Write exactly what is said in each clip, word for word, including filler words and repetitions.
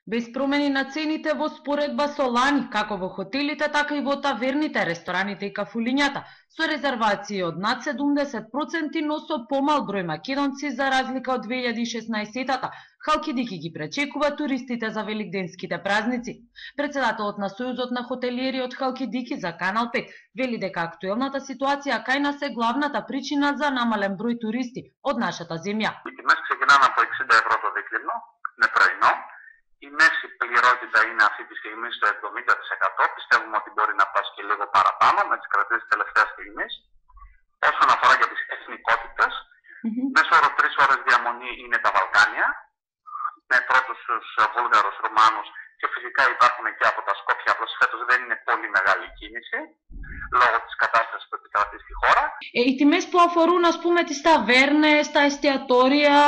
Без промени на цените во споредба со лани, како во хотелите, така и во таверните, рестораните и кафулињата, со резервации од над седумдесет проценти, но со помал број македонци за разлика од две илјади и шеснаесетата, Халкидики ги пречекува туристите за великденските празници. Председателот на Сојузот на хотелиери од Халкидики за Канал пет вели дека актуелната ситуација кај нас е главната причина за намален број туристи од нашата земја. И меси природата и на сите сегми што е седемдесет проценти, πιστεύουμε ότι μπορεί να πάει και λίγο παραπάνω με τις κρατήσεις τελευταίας στιγμής. Όσον αφορά για τις εθνικότητες, mm-hmm. μέσω όρο τρεις ώρες διαμονή είναι τα Βαλκάνια, με πρώτους τους Βούλγαρους, Ρουμάνους και φυσικά υπάρχουν και από τα Σκόπια, απλώς φέτος δεν είναι πολύ μεγάλη κίνηση, λόγω της κατάστασης που επικρατεί στη χώρα. Ε, οι τιμές που αφορούν, ας πούμε, τις ταβέρνες, τα εστιατόρια,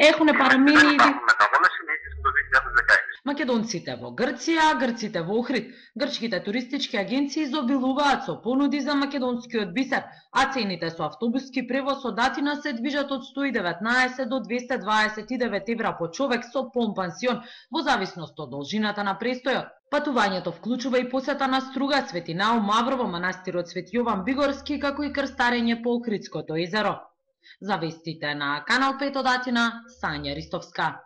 έχουν παραμείνει... Δεν υπάρχουν μεταβόλες, είναι ήδη στο δύο χιλιάδες δεκαέξι. Македонците во Грција, грците во Охрид, грчките туристички агенции изобилуваат со понуди за македонскиот бисер, а цените со автобуски превоз од Атина се движат од сто и деветнаесет до двесте дваесет и девет евра по човек со полн-пансион, во зависност од должината на престојот. Патувањето вклучува и посета на Струга, Свети Наум, Маврово, манастирот Свети Јован Бигорски, како и крстарење по Охридското езеро. За вестите на Канал пет од Атина, Сања Ристовска.